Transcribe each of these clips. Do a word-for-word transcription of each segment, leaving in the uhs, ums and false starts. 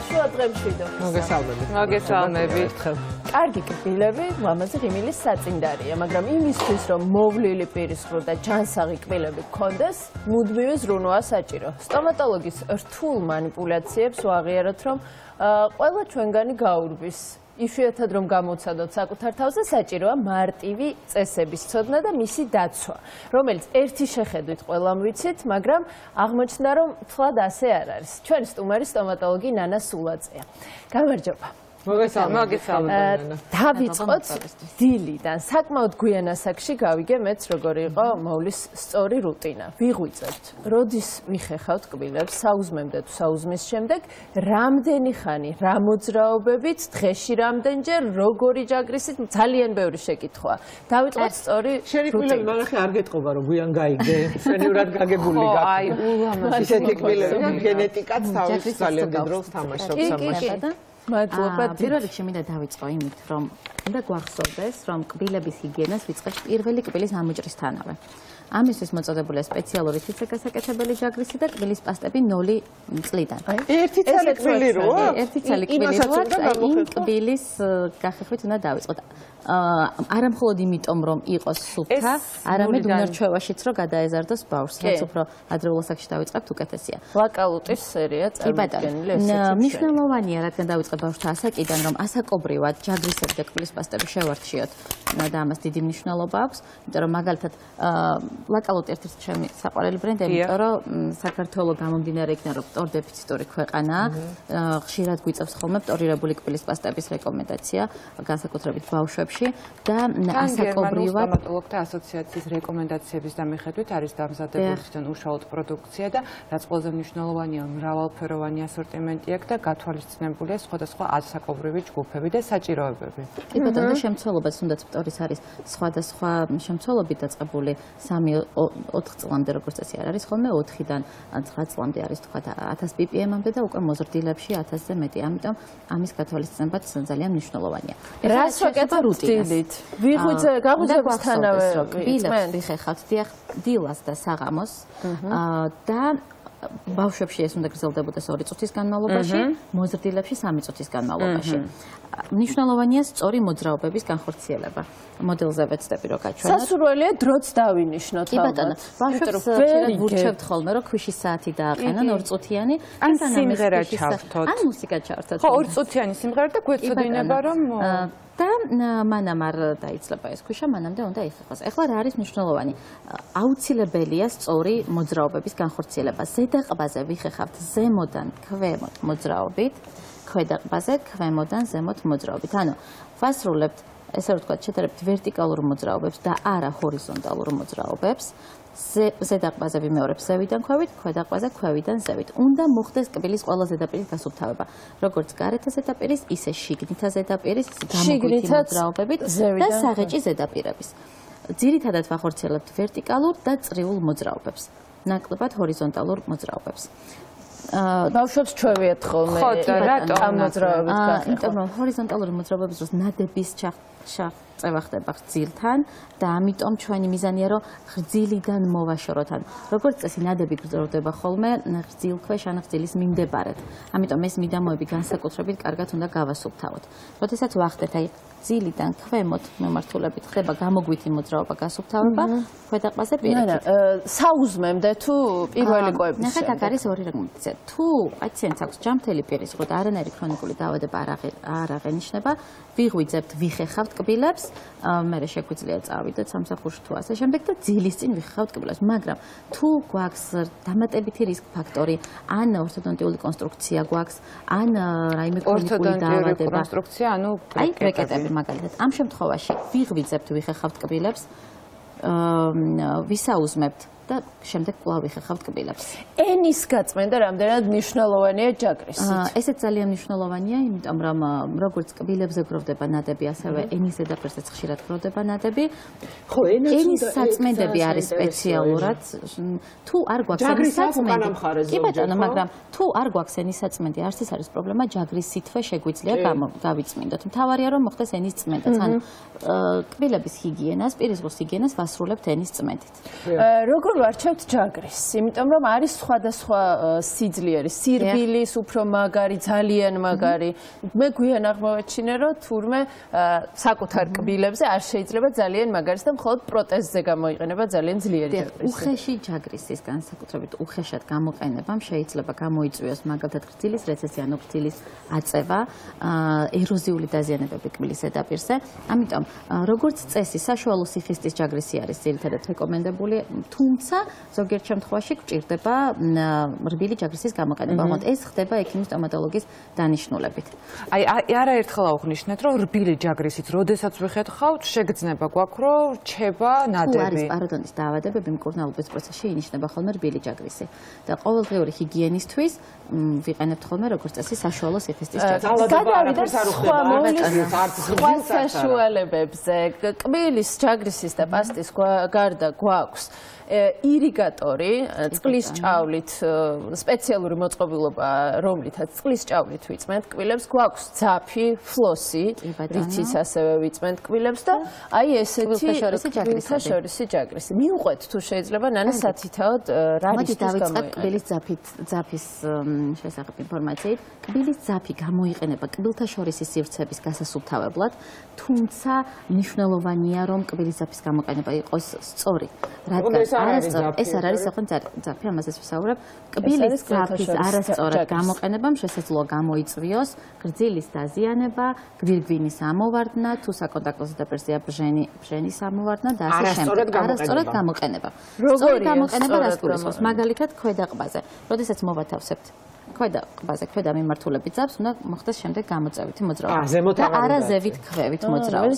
შუა დღემშვიდო. მოგესალმებით. მოგესალმებით. კარგი კბილები მამაზე ღიმილის საწინდარია, მაგრამ იმისთვის რომ მოვლილი პირისყრო და ჯანსაღი კბილები გქონდეს, მუდმივი ზრუნვაა საჭირო. სტომატოლოგის რთულ მანიპულაციებს ვაღიაროთ, რომ ყველა ჩვენგანი გაურბის. იშვიათად რომ გამოცადოთ საკუთარ თავზე, საჭიროა მარტივი წესების ცოდნა და მისი დაცვა, რომელიც ერთი შეხედვით ყველამ ვიცით, მაგრამ აღმოჩნდა რომ თლად ასე არ არის. ჩვენი სტუმარი სტომატოლოგი ნანა სულაძეა. გამარჯობა. მოგესალმებით. დავიწყოთ დილიდან. საკმაოდ გვიან ასაკში გავიგე მეც როგორი იყო მოვლის სწორი რუტინა. ვიღვიძებთ. როდის ვიხეხავთ კბილებს, საუზმემდე თუ საუზმის შემდეგ, რამდენი ხანი, რა მოძრაობებით, დღეში რამდენჯერ, როგორი ჯაგრისით, ძალიან ბევრი შეკითხვაა. დავიწყოთ სწორი რუტინა. შენი კბილები მანახე არ გეტყობა რომ გვიან გაიგე. შენივრად გაგებული გაქვს. აი, ულამაზი. ისეთი კბილები, გენეტიკაც თავის ძალიან დიდ როლს თამაშობს ამაში. მადლობა. პირველ რიგში მინდა დავიწყო იმით, რომ უნდა გვახსოვდეს, რომ კბილების ჰიგიენას ვიწყებთ პირველი კბილის ამოჭრისთანავე. ამისთვის მოწოდებულია სპეციალური თითქოსაკეთებელი ჯაგრისი და კბილის პასტები ნული წლიდან. ერთი ცალი კბილი როა? ერთი ცალი კბილი როა და იმ კბილის გახეხვით უნდა დავიწყოთ. არა მხოლოდ იმიტომ, რომ იყოს სუფთა, არამედ უნარჩვევაშიც რომ გადაეზარდოს ბავშვს, რაც უფრო ადრეულ ასაკში დავიწყებთ, უკეთესია. ლაკალუტის სერია წარმოდგენილი ესეც. მნიშვნელოვანია, რადგან დავიწყებ ბავშვთა ასაკიდან, რომ ასაკობრივად ჯაგრისები და კბილის პასტები შევარჩიოთ და ამას დიდი მნიშვნელობა აქვს, იმიტომ რომ მაგალითად ლაკალუტი ერთ-ერთი ჩემი საყვარელი ბრენდია, იმიტომ რომ საქართველოს გამომდინარე იქნა, რომ მტორი დეფიციტური ქვეყანაა, ხშირად გვიწევს ხოლმე მტორირებული კბილის პასტების რეკომენდაცია, განსაკუთრებით ბავშვებში. და ასაკობრივად სტომატოლოგთა ასოციაციის რეკომენდაციების დამხედვით არის დამზადებული თვითონ უშუალოდ პროდუქცია და რაც ყველაზე მნიშვნელოვანია, მრავალფეროვანი ასორტიმენტი აქვს და გათვალისწინებულია სხვადასხვა ასაკობრივი ჯგუფები და საჭიროებები. კი ბატონო, და შემცველობაც თუნდაც მტორის არის სხვადასხვა შემცველობით დაწყებული სამი ოთხ წლამდე, როგორც წესი არ არის ხოლმე ოთხიდან ცხრა წლამდე არის თქვა ათას პი პი ემ-მდე და უკვე მოზრდილებში ათასზე მეტი. ამიტომ ამის გათვალისწინებაც ძალიან მნიშვნელოვანია. რას ვაკეთებთ დილით? ვიღვიძე, გაგვიძებსთანავე კბილებს ვიხეხავთ დიახ დილას და საღამოს და ბავშვებში ეს უნდა გრძელდებოდეს ორი წუთის განმავლობაში, მოზრდილებში სამი წუთის განმავლობაში. მნიშვნელოვანია სწორი მოძრაობების განხორციელება. მოდელზე ვეცდები რომ გაჩვენოთ. სასურველია დროც დავინიშნოთ. კი ბატონო, ბავშვებს ხშირად ვურჩევთ ხოლმე რომ ქვიშის საათი დააყენონ ორწუთიანი, ან სიმღერა ჩავთოთ. ან მუსიკა ჩავთოთ. ხო, ორწუთიანი სიმღერა და გვეცოდინება რომ და მანამ არ დაიცლება ეს ქვიშა, მანამდე უნდა იხეხოს. ეხლა რა არის მნიშვნელოვანი? აუცილებელია სწორი მოძრაობების განხორციელება. ზედა ყბაზე ვიხეხავთ ზემოდან ქვემოთ მოძრაობით, ქვედა ყბაზე ქვემოდან ზემოთ მოძრაობით. ანუ ვასრულებთ, ესე რომ ვთქვათ, შედარებით ვერტიკალურ მოძრაობებს და არა ჰორიზონტალურ მოძრაობებს. ზედა ყბაზე ვიმეორებ ზევიდან ქვევით, ქვედა ყბაზე ქვევიდან ზევით. უნდა მოხდეს კბილის ყველა ზედაპირის გასუფთავება, როგორც გარეთა ზედაპირის, ისე შიგნითა ზედაპირის, გამოგვითი მოძრაობებით და საღეჭი ზედაპირების. ძირითადად ვახორციელებთ ვერტიკალურ და წრიულ მოძრაობებს, ნაკლებად ჰორიზონტალურ მოძრაობებს. ბავშვებს ჩვევიათ ხოლმე ამ მოძრაობებით გახეხო. იმიტომ რომ ჰორიზონტალური მოძრაობების დროს ნადების ჩაღწევა ხდება გრძილთან და ამიტომ ჩვენი მიზანია რომ გრძილიდან მოვაშოროთ. ან როგორც წესი ნადები გრძელდება ხოლმე გრძილქვეშ ან გრძილის მიმდებარედ. ამიტომ ეს მიდამოები განსაკუთრებით კარგად უნდა გავასუფთავოთ. როდესაც ვახდეთ აი გრძილიდან ქვემოთ მიმართულებით ხდება გამოგვითი მოძრაობა გასუფთავება, ქვედა ყბაზე პირიქით. საუზმემდე თუ პირველი კვების ნახეთ, აქ არის ორი რეკომენდაცია. თუ პაციენტს აქვს ჯამთელი პირისყრო და არანაირი ქრონიკული დაავადება არ აღენიშნება, ვიღვიძებთ, ვიხეხავთ კბილებს, მერე შეგვიძლია წავიდეთ სამსახურში თუ ასე შემდეგ და ძილის წინ ვიხეხავთ კბილებს. მაგრამ თუ გვაქვს დამატებითი რისკ ფაქტორი, ან ორთოდონტიული კონსტრუქცია გვაქვს, ან რაიმე ქრონიკული დაავადება, კონსტრუქცია, ანუ აი ბრეკეტები მაგალითად. ამ შემთხვევაში ვიღვიძებთ, ვიხეხავთ კბილებს, ვისაუზმებთ და შემდეგ კვლავ ვიხეხავთ კბილებს. ენის გაწმენდა რამდენად მნიშვნელოვანია ჯაგრისით? ესეც ძალიან მნიშვნელოვანია, იმიტომ რომ როგორც კბილებზე გროვდება ნადები, ასევე ენის ზედაპირზეც ხშირად გროვდება ნადები. ხო, ენის საწმენდები არის სპეციალურად. თუ არ გვაქვს ენის საწმენდი, კი ბატონო, მაგრამ თუ არ გვაქვს ენის საწმენდი, არც ეს არის პრობლემა, ჯაგრის სითვე შეგვიძლია გავიწმინდოთ. მთავარია რომ მოხდეს ენის წმენდაც. ანუ კბილების ჰიგიენას, პირისგუს ჰიგიენას ვასრულებთ ენის წმენდით. როგორ ვარჩევთ ჯაგრის, იმიტომ რომ არის სხვადასხვა სიძლიერე, სირბილის, უფრო მაგარი, ძალიან მაგარი. მე გვიან აღმოვაჩინე, რომ თურმე საკუთარ კბილებზე არ შეიძლება ძალიან მაგარის და მხოლოდ პროტეზზე გამოიყენება ძალიან ძლიერი ჯაგრისი. უხეში ჯაგრისის განსაკუთრებით უხეშად გამოყენებამ შეიძლება გამოიწვიოს მაგალითად გრძილის რეცესია, გრძილის აწევა, ეროზიული დაზიანებები კბილის ზედაპირზე. ამიტომ როგორც წესი საშუალო სიხისტის ჯაგრისი არის ძირითადად რეკომენდებული, თუმცა ზოგიერთ შემთხვევაში გვჭირდება რბილი ჯაგრისის გამოყენება. მაგრამ ეს ხდება ექიმის სტომატოლოგის დანიშნულებით. აი არაერთხელ აღვნიშნეთ, რომ რბილი ჯაგრისით, როდესაც ვიხეთხავთ, შეგრძნება გვაქვს, რომ რჩება ნადები. თუ არის პაროდონტის დაავადებები, მკურნალობის პროცესში ინიშნება ხოლმე რბილი ჯაგრისი. და ყოველდღიური ჰიგიენისთვის ვიყენებთ ხოლმე როგორც წესი საშუალო სიხისტის ჯაგრისი. გადავიდეთ სხვა მოვლის სხვა საშუალებებზე. კბილის ჯაგრისის და პასტის გარდა გვაქვს ირიგატორი, წყლის ჭავლით, სპეციალური მოწყობილობა, რომლითაც წყლის ჭავლით ვიწმენთ კბილებს, გვაქვს ძაფი, ფლოსი, რითიც ასევე ვიწმენთ კბილებს და აი ესეთი კბილთაშორისი ჯაგრისი. მიუყვეთ თუ შეიძლება ნანა სათითაოდ რა რისკის გამოიყენება. მოდით დავიწყებ კბილის ძაფით, ძაფის შესახებ ინფორმაციით. კბილის ძაფი გამოიყენება კბილთაშორისი სივრცების გასასუფთავებლად, თუმცა მნიშვნელოვანია რომ კბილის ძაფის გამოყენება იყოს სწორი, რადგან ეს არ არის საერთოდ ძაფი, ამასაც ვისაუბრებ. კბილის ძაფის არასწორად გამოყენებამ შესაძლოა გამოიწვიოს გრძილის დაზიანება, გვირგვინის ამოვარდნა, თუ საკონტაქტო ზედაპირზეა ბჟენი, ბჟენის ამოვარდნა და ასე შემდეგ. არასწორად გამოყენება. სწორი გამოყენება რას გულისხმობს? მაგალითად, ქვედა ყბაზე, როდესაც მოვათავსებთ ქვედა ყბაზე, ქვედა მიმართულებით ძაფს უნდა მოხდეს შემდეგ გამოწევითი მოძრაობა. და არა ზევით ქვევით მოძრაობა.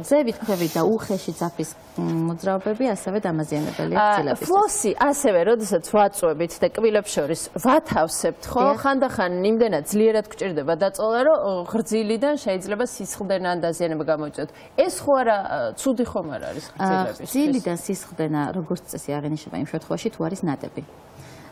ზევით ქვევით და უხეში ძაფის მოძრაობები ასევე დამაზიანებელია გრძილების. ფლოსი ასევე, როდესაც ვაწვევით და კბილებს შორის ვათავსებთ, ხო, ხანდახან იმდენად ძლიერად გვჭირდება დაწოლა, რომ ღრძილიდან შეიძლება სისხლდენა ან დაზიანება გამოიწვიოთ. ეს ხო არა ცუდი ხომ არ არის ღრძილების? ღრძილიდან სისხლდენა როგორც წესი აღინიშნება იმ შემთხვევაში, თუ არის ნადები.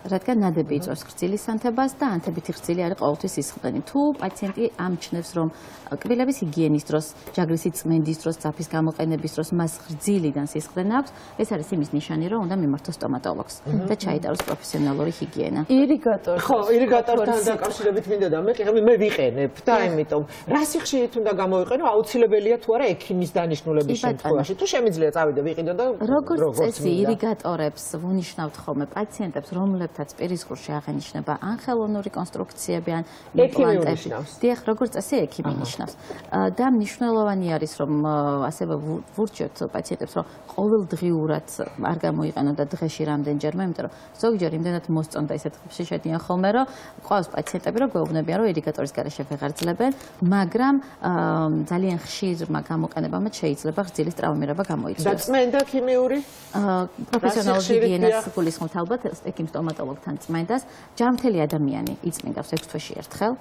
რადგან ნადები იწვევს გრძილის ანთებას და ანთებითი გრძილი არის ყოველთვის სისხლდენი. თუ პაციენტი ამჩნევს, რომ კბილების ჰიგიენის დროს, ჯაგრისი წმენდის დროს, ძაფის გამოყენების დროს მას გრძილიდან სისხლდენა აქვს, ეს არის იმის ნიშანი, რომ უნდა მიმართოს სტომატოლოგს და ჩაიტაროს პროფესიონალური ჰიგიენა. ირიგატორი. ხო, ირიგატორთან დაკავშირებით მინდოდა მე მე ვიყენებ და ამიტომ რა სიხშირით უნდა გამოიყენო, აუცილებელია თუ არა ექიმის დანიშნულების შემთხვევაში. თუ შემიძლია წავიდე ვიყიდო და როგორც წესი ირიგატორებს ვუნიშნავთ ხოლმე პაციენტებს, რომლებსაც პირისყრში აღენიშნება ან ხელოვნური კონსტრუქციები ან იმპლანტები. დიახ, როგორც წესი ექიმი ნიშნავს. და მნიშვნელოვანი არის რომ ასევე ვურჩევთ პაციენტებს რომ ყოველდღიურად არ გამოიყენონ და დღეში რამდენჯერმე, იმიტომ რომ ზოგჯერ იმდენად მოსწონდა ისეთ ხებში შედიან ხოლმე რომ ყავს პაციენტები რომ გვეუბნებიან რომ ირიგატორის გარეშე ვეღარ ძლებენ, მაგრამ ძალიან ხშირმა გამოყენებამაც შეიძლება ღრძილის ტრავმირება გამოიწვიოს. და წმენდა ქიმიური? პროფესიონალური ჰიგიენას გულისხმობთ ალბათ ექიმ სტომატოლოგთან წმენდას. ჯანმრთელი ადამიანი იწმინდავს ექვს თვეში ერთხელ.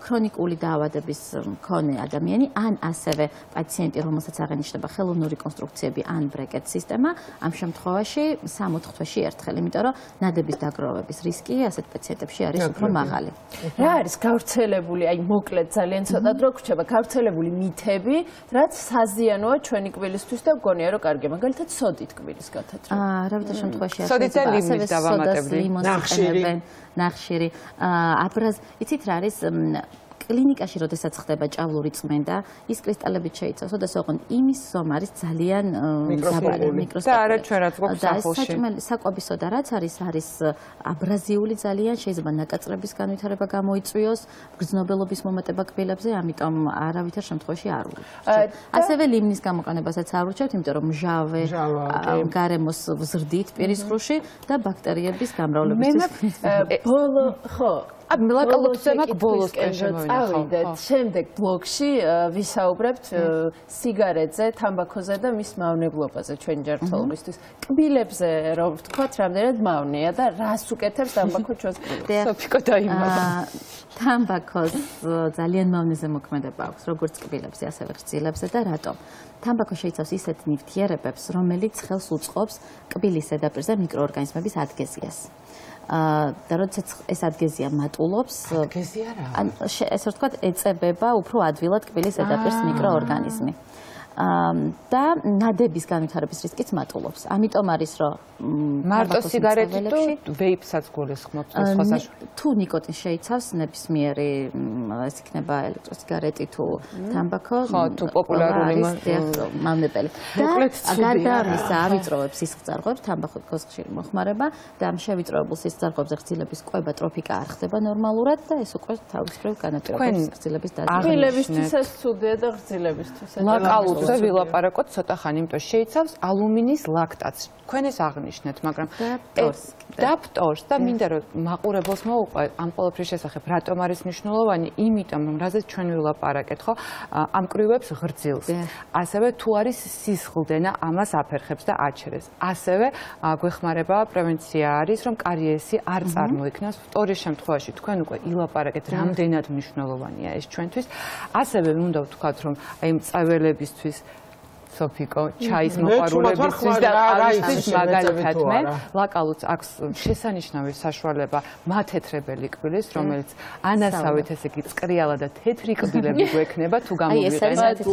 ქრონიკული დაავადების მქონე ადამიანი ან ასევე პაციენტი, რომელსაც აღენიშნება ხელოვნური კონსტრუქციები ან ბრეკეტ სისტემა, ამ შემთხვევაში სამ-ოთხ თვეში ერთხელ, იმიტომ რომ ნადების დაგროვების რისკი ასეთ პაციენტებში არის უფრო მაღალი. რა არის გავრცელებული, აი მოკლედ ძალიან ცოტა დრო გვრჩება, გავრცელებული მითები, რაც საზიანოა ჩვენი კბილისთვის და მგონია რომ კარგია, მაგალითად სოდით კბილის გათათრება. აა, რავითარ შემთხვევაში სოდით და ლიმონს დავამატებდი. ნახშირი, ნახშირი. აბრაზ, იცით რა არის კლინიკაში, როდესაც ხდება ჭავლური წმენდა, ის კრისტალებით შეიცავს, და ოღონდ იმის ზომა არის ძალიან დაბალი, მიკროსკოპული. და არა ჩვენ რაც გვაქვს სახლში. საკვების სოდა რაც არის, არის აბრაზიული ძალიან, შეიძლება ნაკაწრების განვითარება გამოიწვიოს, გრძნობელობის მომატება კბილებზე, ამიტომ არავითარ შემთხვევაში არ ვურჩევთ. ასევე ლიმნის გამოყენებასაც არ ვურჩევთ, იმიტომ რომ მჟავე გარემოს ვზრდით პირისყრუში და ბაქტერიების გამრავლებისთვის. ბოლო, ხო, მელაკალობის თემა ბოლოს წავიდეთ. შემდეგ ბლოგში ვისაუბრებთ სიგარეტზე, თამბაქოზე და მის მავნებლობაზე ჩვენი ჯანმრთელობისთვის. კბილებზე რომ ვთქვათ, რამდენად მავნეა და რას უკეთებს თამბაქო ჩვენს კბილებს? სოფიკო დაიმალა. თამბაქოს ძალიან მავნეზე მოქმედება აქვს, როგორც კბილებზე, ასევე ღრძილებსა და რატომ? თამბაქო შეიცავს ისეთ ნივთიერებებს, რომელიც ხელს უწყობს კბილის ზედაპირზე მიკროორგანიზმების ადგეზიას. და როდესაც ეს ადგეზია მატულობს, ადგეზია რა? ან ესე ვთქვათ, ეწებება უფრო ადვილად კბილის ზედაპირს მიკროორგანიზმი. და ნადების განვითარების რისკიც მატულობს. ამიტომ არის რომ მარტო სიგარეტი თუ ვეიპსაც გულისხმობთ სხვა საშუალება. თუ ნიკოტინს შეიცავს ნებისმიერი ეს იქნება ელექტროსიგარეტი თუ თამბაქო, ხო, თუ პოპულარული მავნებელი. და გარდა ამისა ავიწროვებს სისხლძარღვებს, თამბაქოს ხშირი მოხმარება და ამ შევიწროებულ სისხლძარღვებზე გრძილების კვება ტროფიკა არ ხდება ნორმალურად და ეს უკვე თავისუფლად განაპირობებს გრძილების დაზიანებას. გრძილებისთვის ეს ცუდია და გრძილებისთვის. ლაკალუზე ვილაპარაკოთ ცოტა ხანი, იმიტომ შეიცავს ალუმინის ლაქტატს. თქვენ ეს აღნიშნეთ, მაგრამ და ფტორს და მინდა რომ მაყურებელს მოუყვე ამ ყველაფრის შესახებ, რატომ არის მნიშვნელოვანი? იმიტომ რომ რაზეც ჩვენ ვილაპარაკეთ, ხო, ამკრივებს ღრძილს. ასევე თუ არის სისხლდენა, ამას აფერხებს და აჩერებს. ასევე გვეხმარება პრევენცია არის, რომ კარიესი არ წარმოიქმნას. ფტორის შემთხვევაში თქვენ უკვე ილაპარაკეთ, რამდენად მნიშვნელოვანია ეს ჩვენთვის. ასევე უნდა ვთქვათ, რომ აი მწველებისთვის სოფიკო ჩაის მოყვარულებისთვის და არავისთვის მაგალითად მე ლაკალუც აქვს შესანიშნავი საშუალება მათეთრებელი კბილის, რომელიც ანასავით ესე იგი წკრიალა და თეთრი კბილები გვექნება თუ გამოვიყენებთ.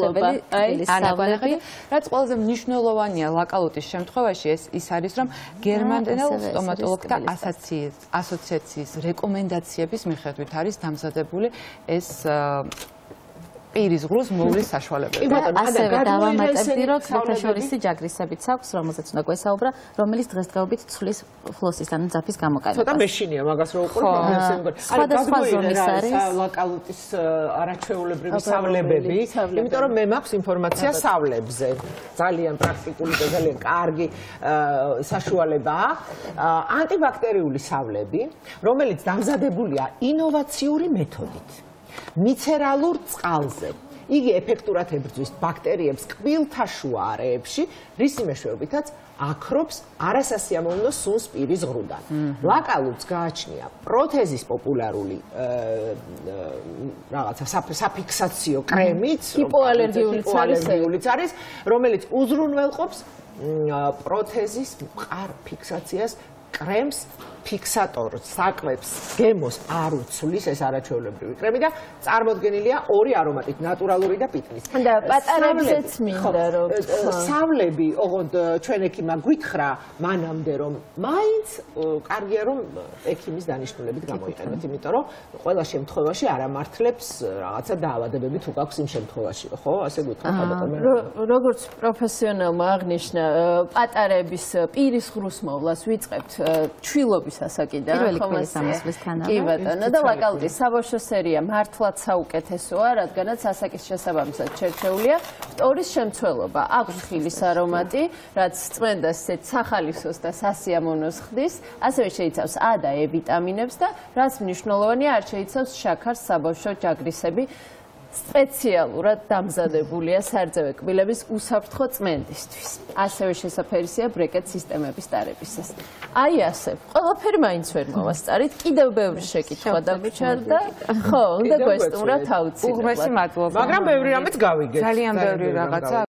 აი, რაც ყველაზე მნიშვნელოვანია ლაკალუტის შემთხვევაში ეს ის არის, რომ გერმანულ სტომატოლოგთა ასოციაციის რეკომენდაციების მიხედვით არის დამზადებული ეს პირის ღრუს მოვლის საშუალებები. ასევე დავამატებდი, რომ საერთაშორისი ჯაგრისებიც აქვს, რომელზეც უნდა გვესაუბრა, რომელიც დღესდღეობით ცვლის ფლოსის, ანუ ძაფის გამოყენებას. ცოტა მეშინია მაგას რო უყურებ, სხვადასხვა ზომის არის ლაკალუტის არაჩვეულებრივი სავლებები, იმიტომ რომ მე მაქვს ინფორმაცია სავლებზე. ძალიან პრაქტიკული და ძალიან კარგი საშუალებაა. ანტიბაქტერიული სავლები, რომელიც დამზადებულია ინოვაციური მეთოდით. მიცერალურ წყალზე. იგი ეფექტურად ებრძვის ბაქტერიებს კბილთა შუა არეებში, რისი მეშვეობითაც აქრობს არასასიამოვნო სუნს პირის ღრუდან. ლაკალუც გააჩნია პროთეზის პოპულარული რაღაცა საფიქსაციო კრემიც, ჰიპოალერგიულიც არის, რომელიც უზრუნველყოფს პროთეზის მყარ ფიქსაციას, კრემს ფიქსატორს, საკვებს, გემოს არ უცვლის ეს არაჩვეულებრივი კრემი და წარმოდგენილია ორი არომატით, ნატურალური და პიტნის. და პატარებზეც მინდა რომ სავლები, ოღონდ ჩვენ ექიმა გვითხრა მანამდე რომ მაინც კარგია რომ ექიმის დანიშნულებით გამოიყენოთ, იმიტომ რომ ყველა შემთხვევაში არ ამართლებს რაღაცა დაავადებები თუ გაქვს იმ შემთხვევაში, ხო? ასე გვითხრა ხალხო. როგორც პროფესიონალმა აღნიშნა, პატარების პირის ღრუს მოვლას ვიწყებთ ჩვილობის ასაკიდან კი ბატონო და ლაკალუტის საბავშვო სერია მართლაც საუკეთესოა, რადგანაც ასაკის შესაბამისად შერჩეულია ფტორის შემცველობა, აქვს ხილის არომატი, რაც წმენდას ისეთ სახალისოს და სასიამოვნოს ხდის, ასევე შეიცავს ა და ე ვიტამინებს და რაც მნიშვნელოვანია, არ შეიცავს შაქარს, საბავშვო ჯაგრისები. სპეციალურად დამზადებულია სარძევე კბილების უსაფრთხო წმენდისთვის. ასევე შესაფერისია ბრეკეტ სისტემების დარებისას. აი ასე, ყველაფერი მაინც ვერ მოვასწარით, კიდევ ბევრი შეკითხვა დაგვიჩარდა. ხო, უნდა გვესტუმროთ აუცილებლად. უღმესი მადლობა. მაგრამ ბევრი რამეც გავიგეთ. ძალიან ბევრი რაღაცა